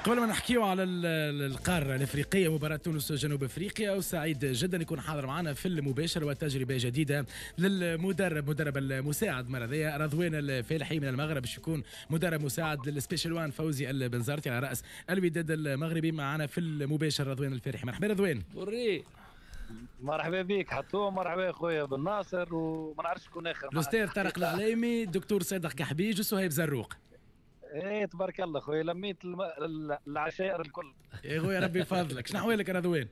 قبل ما نحكيو على القارة الافريقيه، مباراة تونس جنوب افريقيا، وسعيد جدا يكون حاضر معنا في المباشر وتجربه جديدة للمدرب، مدرب المساعد مرة ذي رضوان الفالحي من المغرب، باش يكون مدرب مساعد لل Special One فوزي البنزرتي على راس الوداد المغربي. معنا في المباشر رضوان الفالحي. مرحبا رضوان. بري مرحبا بك حتوم، مرحبا خويا بن ناصر، وما نعرفش شكون اخر. الاستاذ طارق العليمي، الدكتور صادق كحبيج، وسهيب زروق. ايه تبارك الله خويا، لميت العشائر الكل. يا خويا ربي يفضلك، شنو احوالك رضوان؟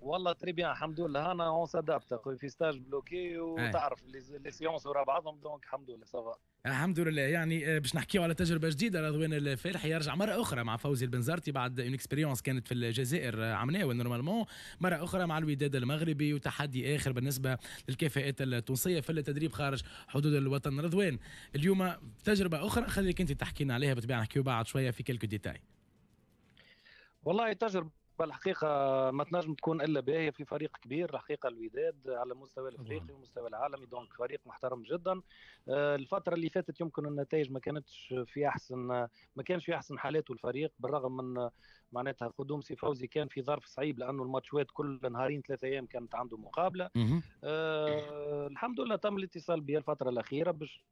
والله très bien الحمد لله، انا on s'adapte خويا في stage bloqué، وتعرف les séances ورا بعضهم، donc الحمد لله ça va. الحمد لله. يعني باش نحكيو على تجربه جديده، رضوان الفالحي يرجع مرة اخرى مع فوزي البنزرتي بعد une expérience كانت في الجزائر عمناول normalement، مرة اخرى مع الوداد المغربي، وتحدي اخر بالنسبة للكفاءات التونسية في التدريب خارج حدود الوطن. رضوان، اليوم تجربه اخرى، خليك انت تحكي لنا عليها، بالطبيعة نحكيو بعد شوية في quelques détails. والله تجربه الحقيقة ما تنجم تكون الا باهيه في فريق كبير الحقيقة الوداد على المستوى الافريقي والمستوى العالمي، donc فريق محترم جدا. الفترة اللي فاتت يمكن النتائج ما كانش في احسن حالاته الفريق، بالرغم من معناتها قدوم سي فوزي كان في ظرف صعيب، لانه الماتشات كل نهارين 3 ايام كانت عنده مقابله. الحمد لله تم الاتصال بي الفترة الاخيرة باش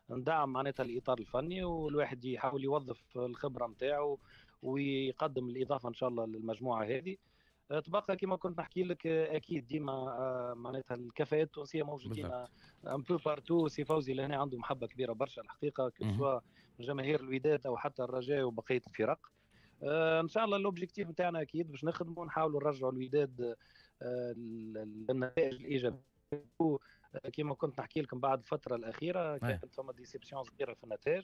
ندعم معناتها الاطار الفني، والواحد يحاول يوظف الخبرة نتاعو ويقدم الاضافة ان شاء الله للمجموعة هذه. تبقى كما كنت نحكي لك، اكيد ديما معناتها الكفاءات التونسية موجودين un peu partout. سي فوزي لهنا عنده محبة كبيرة برشا الحقيقه، سواء جماهير الوداد او حتى الرجاء وبقية الفرق. ان شاء الله l'objectif نتاعنا اكيد باش نخدموا، نحاولوا نرجعوا الوداد للنتائج الايجابيه. كما كنت نحكي لكم بعد الفترة الاخيرة كانت فما déception صغيرة في النتائج،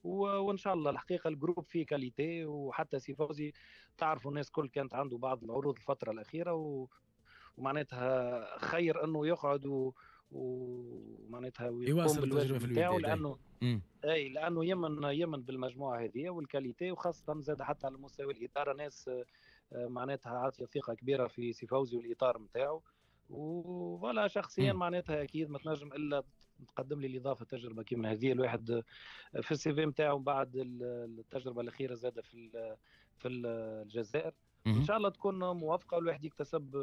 وان شاء الله الحقيقة ال groupe فيه qualité، وحتى سي فوزي تعرفوا الناس كل كانت عنده بعض العروض الفترة الاخيرة ومعناتها خير انه يقعد ومعناتها يواصل التجربة في الوداد، لانه اي لانه يمن بالمجموعة هذه وال qualité، وخاصة زاد حتى على مستوى الادارة ناس معناتها عاطيه ثقة كبيرة في سي فوزي والاطار نتاعو. و voilà شخصيا معناتها اكيد ما تنجم الا تقدم لي الاضافة تجربه كيما هذه، الواحد في ال CV نتاعو بعد التجربة الاخيرة زاد في الجزائر. ان شاء الله تكون موافقة والواحد يكتسب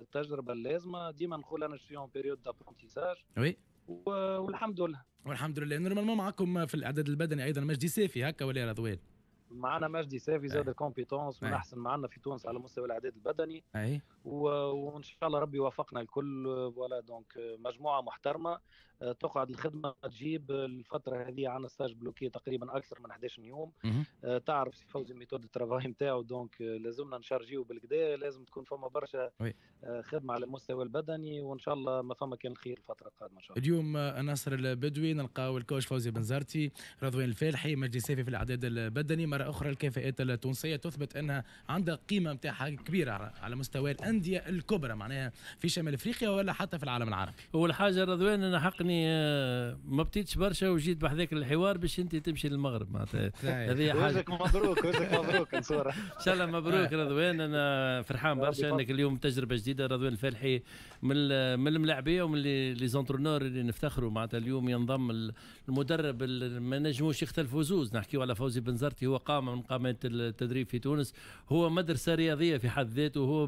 التجربة اللازمه. ديما نقول انا je suis en période d'apprentissage. والحمد لله. والحمد لله. normalement معكم في الاعداد البدني ايضا مجدي سافي، هكا ولا رضوان؟ معنا مجدي سافي زاد compétence من احسن معنا في تونس على مستوى الاعداد البدني. وان شاء الله ربي يوفقنا الكل. voilà donc مجموعة محترمه، تقعد الخدمة تجيب. الفترة هذه عندنا stage bloqué تقريبا اكثر من 11 يوم. تعرف سي فوزي méthode travail نتاعو، donc لازمنا نشارجيو بالقدا، لازم تكون فما برشا خدمة على المستوى البدني، وان شاء الله ما فما كان الخير الفترة القادمة ان شاء الله. اليوم ناصر البدوي نلقاو ال coach فوزي بنزرتي، رضوان الفالحي، مجدي سافي في الاعداد البدني. مرة اخرى الكفاءات التونسية تثبت انها عندها قيمة نتاعها كبيرة على مستوى الاندية الكبرى، معناها في شمال افريقيا ولا حتى في العالم العربي. اول حاجة رضوان، انا حقني ما بطيتش برشا وجيت بحذاك الحوار باش انت تمشي للمغرب، معناتها هذه حاجه. وجهك مبروك، وجهك مبروك نصوره. ان شاء الله مبروك رضوان، انا فرحان برشا انك اليوم تجربه جديده. رضوان الفالحي من الملاعبيه ومن les entraîneurs اللي نفتخروا، معناتها اليوم ينضم المدرب ما نجموش يختلفوا زوز. نحكيو على فوزي بنزرتي، هو قامه من قامات التدريب في تونس، هو مدرسه رياضية في حد ذاته. هو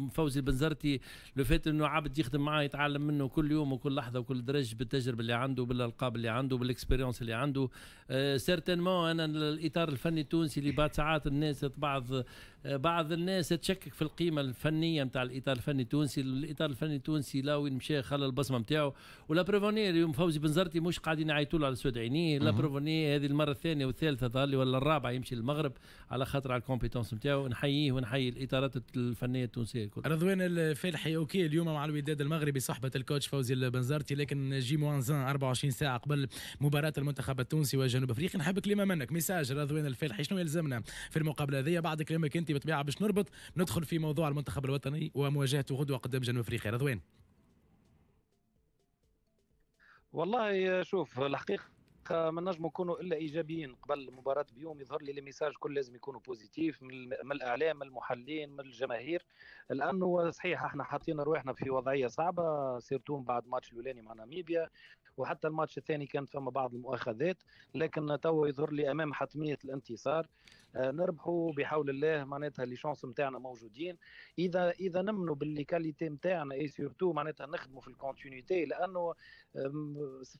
فوزي البنزرتي le fait انه عبد يخدم معاه يتعلم منه كل يوم وكل لحظة وكل درج، بالتجربة اللي عنده، بالالقاب اللي عنده، بال expérience اللي عنده. certainement انا الاطار الفني التونسي اللي بعد ساعات الناس بعض الناس تشكك في القيمة الفنية نتاع الاطار الفني التونسي. الاطار الفني التونسي لا وين مشى خلى البصمة نتاعو، و la preuve اليوم فوزي بنزرتي مش قاعدين يعيطوا له على سود عينيه. la preuve هذه المرة الثانية والثالثة ظهر لي ولا الرابعة يمشي للمغرب على خاطر على ال compétence نتاعو. نحييه ونحيي الاطارات الفنية التونسية الكل. رضوان الفالحي، OK اليوم مع الوداد المغربي صحبه ال coach فوزي البنزرتي، لكن J moins 24 ساعة قبل مباراة المنتخب التونسي وجنوب افريقيا. نحب كلمة منك، message رضوان الفالحي، شنو يلزمنا في المقابلة هذه؟ بعد كلامك انت بالطبيعة باش نربط ندخل في موضوع المنتخب الوطني ومواجهته غدوه قدام جنوب افريقيا. رضوان. والله شوف، الحقيقة ما نجم نكونوا الا ايجابيين قبل المباراة بيوم. يظهر لي les messages كل لازم يكونوا positifs من الاعلام، من المحللين، من الجماهير، لانه صحيح احنا حاطين رواحنا في وضعية صعبه، surtout بعد ماتش الاولاني مع ناميبيا، وحتى الماتش الثاني كانت فما بعض المؤاخذات، لكن تو يظهر لي امام حتمية الانتصار. نربحوا بحول الله، معناتها les chances نتاعنا موجودين اذا نمنوا بال les qualités نتاعنا et surtout معناتها نخدموا في ال continuité، لانه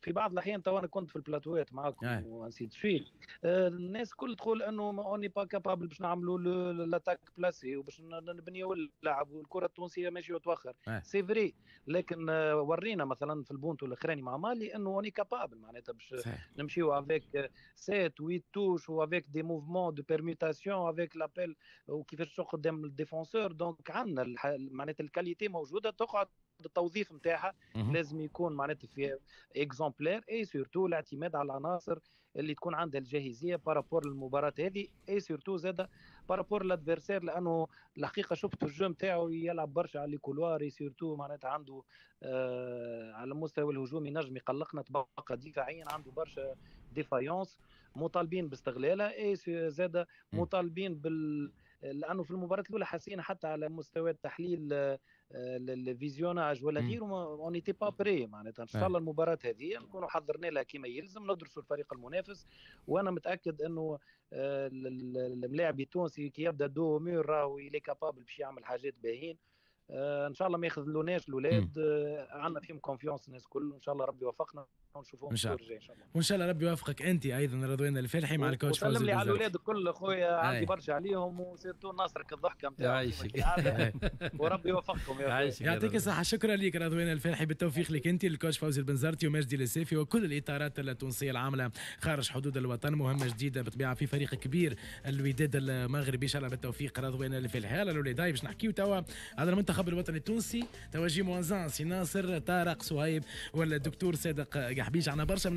في بعض الاحيان تو انا كنت في البلاتوات معاكم و ainsi de suite، الناس كل تقول انه on n'est pas capable باش نعملوا l'attaque placée وباش نبنيو اللعب والكره التونسية ماشية وتوخر. c'est vrai، لكن ورينا مثلا في البونتو الاخراني مع مالي انه on est capable معناتها باش نمشيو avec 7 8 touches و avec des mouvements de permutation avec l'appel وكيفاش قدام ال défenseur. donc عندنا معناتها ال qualité موجوده، تقعد التوظيف نتاعها لازم يكون معناتها في exemplaire et surtout الاعتماد على العناصر اللي تكون عندها الجاهزيه par rapport للمباراة هذه et surtout زاد par rapport l'adversaire، لانه الحقيقة شفت ال jeu نتاعو يلعب برشا على les couloirs et surtout معناتها عنده على المستوى الهجومي نجم يقلقنا، تبقى دفاعيا عنده برشا défaillances مطالبين باستغلالها et زاد مطالبين لانه في المباراة الاولى حسينا حتى على مستوى التحليل ال visionnage ولا غيره on n'était pas prêts. معناتها ان شاء الله المباراة هذه نكونوا حضرنا لها كما يلزم، ندرسوا الفريق المنافس، وانا متاكد انه الملاعب التونسي كي يبدا dos au mur راهو il est capable باش يعمل حاجات باهين. ان شاء الله ما يخذلوناش الاولاد، عندنا فيهم confiance الناس الكل، ان شاء الله ربي يوفقنا ونشوفوهم ان شاء الله ان شاء الله. وان شاء الله ربي يوفقك انت ايضا رضوان الفالحي مع ال coach فوزي. وسلم لي على الاولاد الكل خويا، عندي برشا عليهم و surtout ناصرك الضحكة نتاعو. يعيشك. وربي يوفقكم يا يعيشك. يعطيك الصحه، شكرا لك رضوان الفالحي، بالتوفيق لك انت، ال coach فوزي البنزرتي ومجدي السيفي وكل الاطارات التونسية العاملة خارج حدود الوطن. مهمة جديدة بالطبيعة في فريق كبير الوداد المغربي، ان شاء الله بالتوفيق رضوان الفالحي. يلا الاولاد باش نحكيو توا على المنتخب الوطني التونسي، توا J moins un سي ناصر طارق صهيب والدكتور صادق قحبيش، عندنا برشا من